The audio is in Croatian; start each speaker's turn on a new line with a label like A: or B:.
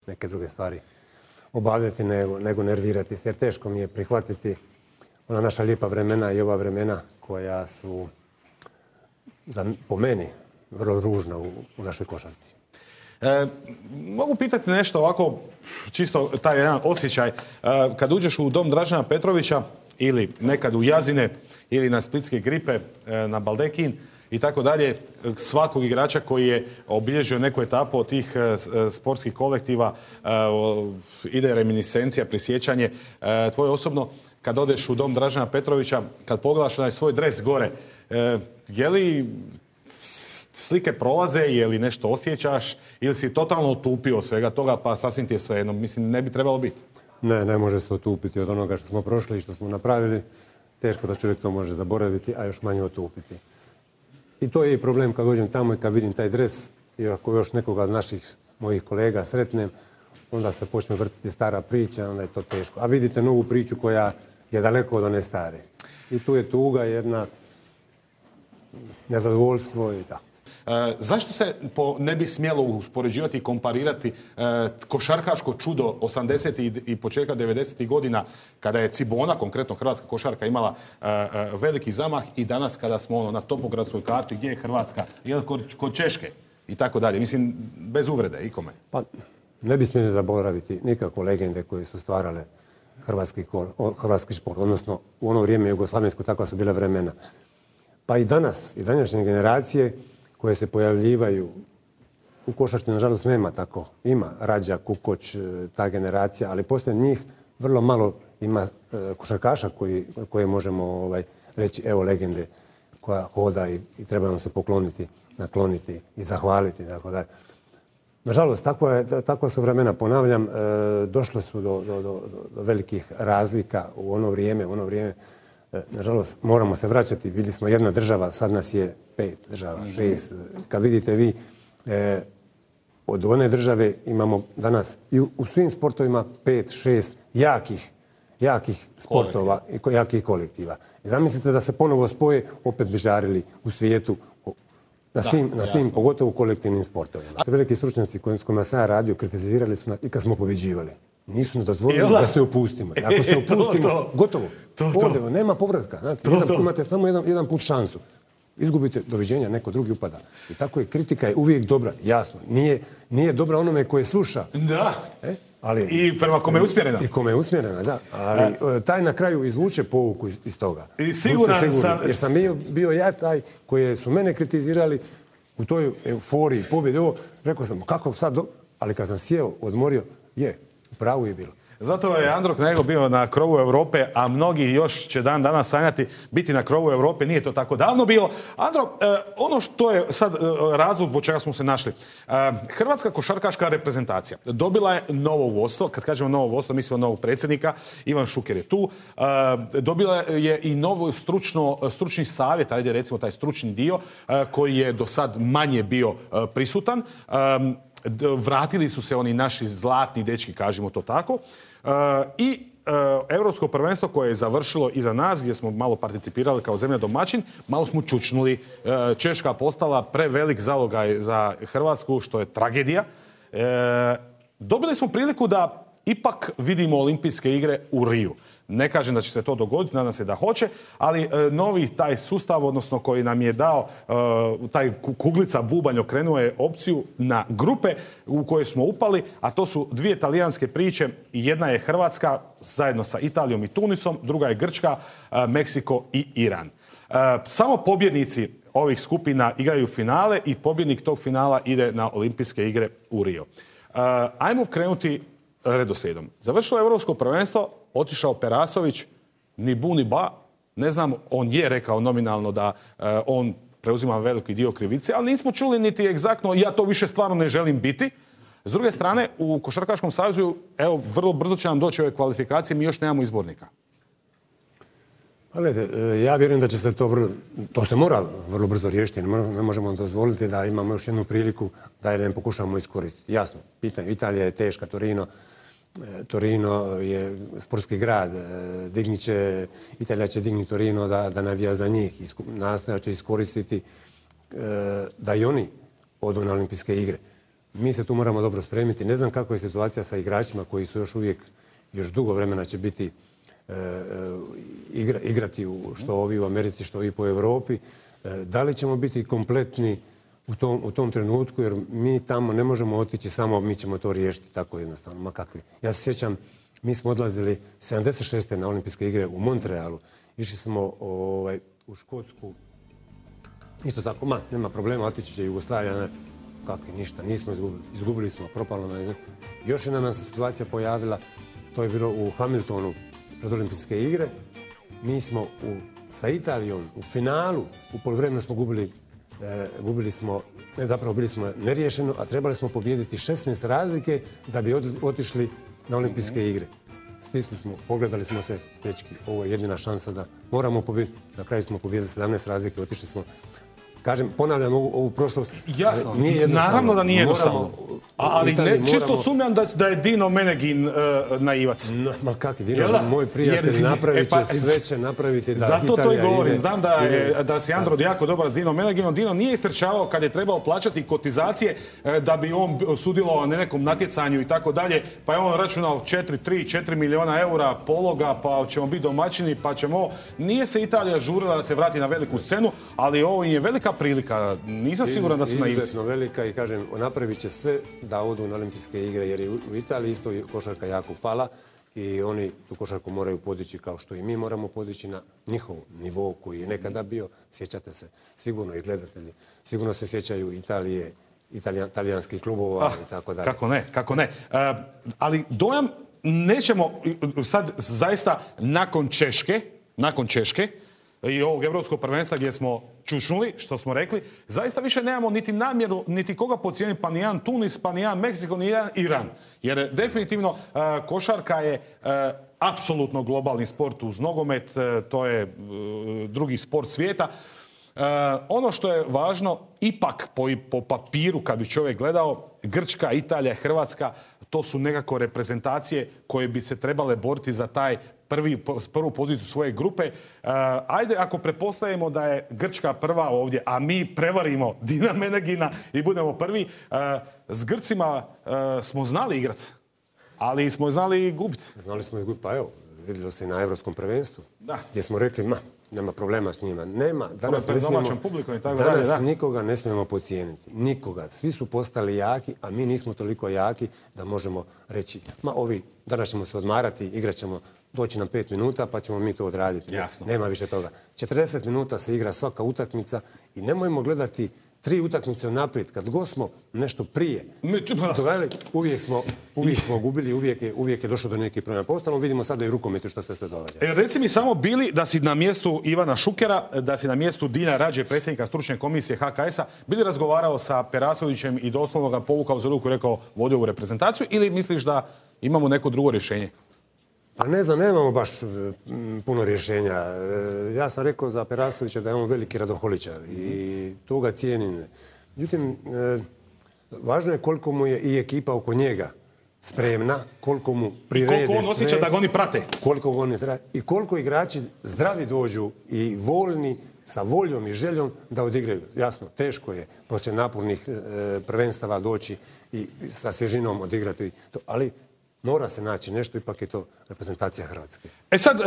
A: neke druge stvari obavljati nego nervirati se. Jer teško mi je prihvatiti ona naša lijepa vremena i ova vremena koja su po meni vrlo ružna u našoj košarci.
B: Mogu pitati nešto ovako, čisto taj jedan osjećaj. Kad uđeš u dom Dražena Petrovića ili nekad u Jazine ili na splitske Gripe, na Baldekin i tako dalje, svakog igrača koji je obilježio neku etapu od tih sportskih kolektiva ide reminiscencija, prisjećanje. Tvoje osobno, kad odeš u dom Dražena Petrovića, kad pogledaš onaj svoj dres gore, je li slike prolaze, je li nešto osjećaš ili si totalno otupio svega toga pa sasvim ti je svejedno? Mislim, ne bi trebalo biti.
A: Ne može se otupiti od onoga što smo prošli i što smo napravili. Teško da čovjek to može zaboraviti, a još manje otupiti. I to je i problem kad dođem tamo i kad vidim taj dres i ako još nekoga od naših mojih kolega sretnem, onda se počne vrtiti stara priča, onda je to teško. A vidite novu priču koja je daleko od one stare. I tu je tuga, jedna nezadovoljstvo i tako.
B: Zašto se ne bi smjelo uspoređivati i komparirati košarkaško čudo 80. i početka 90. godina kada je Cibona, konkretno hrvatska košarka, imala veliki zamah i danas kada smo na topogradskoj karti gdje je Hrvatska, kod Češke i tako dalje. Mislim, bez uvrede ikome.
A: Pa ne bi smjeli zaboraviti nikako legende koje su stvarale hrvatski šport, odnosno u ono vrijeme jugoslavensko, takva su bila vremena. Pa i danas, i današnje generacije koje se pojavljivaju u košarci, nažalost, nema tako. Ima Rađa, Kukoć, ta generacija, ali poslije njih vrlo malo ima košarkaša koje možemo reći, evo legende koja hoda i treba nam se pokloniti, nakloniti i zahvaliti. Nažalost, takva su vremena, ponavljam, došle su do velikih razlika u ono vrijeme. Nažalost, moramo se vraćati. Bili smo jedna država, sad nas je 5 država, 6. Kad vidite vi, od one države imamo danas i u svim sportovima 5, 6 jakih sportova i jakih kolektiva. I zamislite da se ponovo spoje, opet bi žarili u svijetu na svim, pogotovo kolektivnim sportovima. Veliki stručnjaci s kojima sam ja radio kritizirali su nas i kad smo pobjeđivali. Nisu nam dozvolili da se opustimo. Ako se opustimo, gotovo. Ovdje nema povratka. Znate, imate samo jedan put šansu. Izgubite, doviđenja, neko drugi upada. I tako je, kritika je uvijek dobra, jasno. Nije dobra onome koje sluša.
B: Da. I prema kome je usmjerena.
A: I kome je usmjerena, da. Ali taj na kraju izvuče pouku iz toga.
B: I siguran sam...
A: Jer sam bio ja taj koji su mene kritizirali u toj euforiji, pobjede. Rekao sam, kako sad... Ali kad sam sjeo, odmorio, u pravu je bilo.
B: Zato je Andro Knego bio na krovu Europe, a mnogi još će dan danas sanjati biti na krovu Europe. Nije to tako davno bilo. Andro, ono što je sad razlog zbog čega smo se našli. Hrvatska košarkaška reprezentacija dobila je novo vodstvo. Kad kažemo novo vodstvo, mislimo novog predsjednika. Ivan Šuker je tu. Dobila je i novo stručni savjet, ajde recimo taj stručni dio, koji je do sad manje bio prisutan. Vratili su se oni naši zlatni dečki, kažemo to tako. I Europsko prvenstvo koje je završilo iza nas, gdje smo malo participirali kao zemlja domaćin, malo smo čučnuli. Češka postala prevelik zalogaj za Hrvatsku, što je tragedija. Dobili smo priliku da ipak vidimo olimpijske igre u Riju. Ne kažem da će se to dogoditi, nadam se da hoće, ali novi taj sustav, odnosno koji nam je dao taj kuglica bubanj, okrenuo je opciju na grupe u koje smo upali, a to su 2 talijanske priče. Jedna je Hrvatska zajedno sa Italijom i Tunisom, druga je Grčka, Meksiko i Iran. Samo pobjednici ovih skupina igraju finale i pobjednik tog finala ide na olimpijske igre u Rio. Ajmo krenuti redoslijedom. Završilo je Europsko prvenstvo, otišao Perasović, ni bu ni ba. Ne znam, on je rekao nominalno da on preuzima veliki dio krivice, ali nismo čuli niti egzaktno, ja to više stvarno ne želim biti. S druge strane, u Košarkaškom savezu, evo, vrlo brzo će nam doći ove kvalifikacije, mi još nemamo izbornika.
A: Gledajte, ja vjerujem da će se to se mora vrlo brzo riješiti. Ne možemo dozvoliti da imamo još jednu priliku da je pokušamo iskoristiti. Jasno, pitanje, Italija je teška, Torino je sportski grad, Italija će dignuti Torino da navija za njih. Nastoja će iskoristiti da i oni odu na olimpijske igre. mi se tu moramo dobro spremiti. Ne znam kako je situacija sa igračima koji su još dugo vremena će biti igrati što ovi u Americi, što ovi po Europi. Da li ćemo biti kompletni u tom trenutku, jer mi tamo ne možemo otići samo, mi ćemo to riješiti tako jednostavno. Ma kakvi. Ja se sjećam, mi smo odlazili 76. na olimpijske igre u Montrealu. Išli smo u Škotsku. Isto tako, nema problema, otići će Jugoslavija. Kakvi, ništa, nismo izgubili. Izgubili smo, propalo nam. Još jedna nam se situacija pojavila, to je bilo u Hamiltonu pred olimpijske igre. Mi smo sa Italijom u finalu, u poluvremenu smo bili smo neriješeno, a trebali smo pobijediti 16 razlike da bi otišli na olimpijske igre. Stisli smo, pogledali smo se, dečki, ovo je jedina šansa da moramo pobijediti. Na kraju smo pobijedili 17 razlike, otišli smo. Kažem, ponavljam ovu prošlost.
B: Jasno, naravno da nije jednostavno. Ali čisto sumnjam da je Dino Menegin naivac.
A: Ma kakvi, Dino, moj prijatelj, sve će napraviti da Italija ide.
B: Zato to i govorim. Znam da si Andro jako dobar s Dino Meneginom. Dino nije istrčavao kad je trebao plaćati kotizacije da bi on sudjelovao na nekom natjecanju i tako dalje. Pa je on računao 4 milijuna eura pologa, pa ćemo biti domaćini, pa ćemo... Nije se Italija žurila da se vrati na veliku scenu, ali ovo je velika prilika. Nisam siguran da su naivci.
A: Izuzetno velika i kažem, napravit će sve da odu na olimpijske igre, jer je u Italiji isto košarka jako pala i oni tu košarku moraju podići kao što i mi moramo podići na njihov nivo koji je nekada bio. Sjećate se, sigurno i gledatelji, sigurno se sjećaju Italije, talijanskih klubova i tako dalje.
B: Kako ne. Ali dojam nećemo sad zaista nakon Češke i ovog evropskog prvenstva gdje smo čušnuli, što smo rekli, zaista više nemamo niti namjeru, niti koga podcijeniti, pa ni jedan Tunis, pa ni jedan Meksiko, ni jedan Iran. Jer definitivno košarka je apsolutno globalni sport uz nogomet, to je drugi sport svijeta. Ono što je važno, ipak po papiru kad bi čovjek gledao, Grčka, Italija, Hrvatska, to su nekako reprezentacije koje bi se trebale boriti za taj prvu poziciju svoje grupe. Ajde, ako pretpostavimo da je Grčka prva ovdje, a mi prevarimo Dina Menegina i budemo prvi, s Grcima smo znali igrati, ali smo znali i gubiti.
A: Znali smo i gubiti, pa evo, vidjelo se i na Evropskom prvenstvu, gdje smo rekli, nema problema s njima. Nema, danas nikoga ne smijemo podcijeniti. Nikoga. Svi su postali jaki, a mi nismo toliko jaki da možemo reći, danas ćemo se odmarati, igrat ćemo, doći nam 5 minuta pa ćemo mi to odraditi.
B: Jasno.
A: Nema više toga. 40 minuta se igra svaka utakmica i nemojmo gledati 3 utakmice naprijed. Kad god smo nešto prije uvijek smo gubili, uvijek je došlo do nekih promjena. Postalo vidimo sada i u rukometu što se događa.
B: Reci mi samo, bili da si na mjestu Ivana Šukera, da si na mjestu Dina Rađe, predsjednika stručne komisije HKS-a, bili razgovarao sa Perasovićem i doslovno ga povukao za ruku i rekao vodio u reprezentaciju, ili misliš da imamo neko drugo rješenje?
A: Pa ne znam, nemamo baš puno rješenja. Ja sam rekao za Perasovića da je on veliki radoholičar i to ga cijenim. Međutim, važno je koliko mu je i ekipa oko njega spremna, koliko mu prirede sve.
B: I koliko on osjeća da ga oni prate.
A: I koliko igrači zdravi dođu i voljni, sa voljom i željom da odigraju. Jasno, teško je poslije napornih prvenstava doći i sa svježinom odigrati to, ali mora se naći nešto, ipak je to reprezentacija Hrvatske.
B: Sad...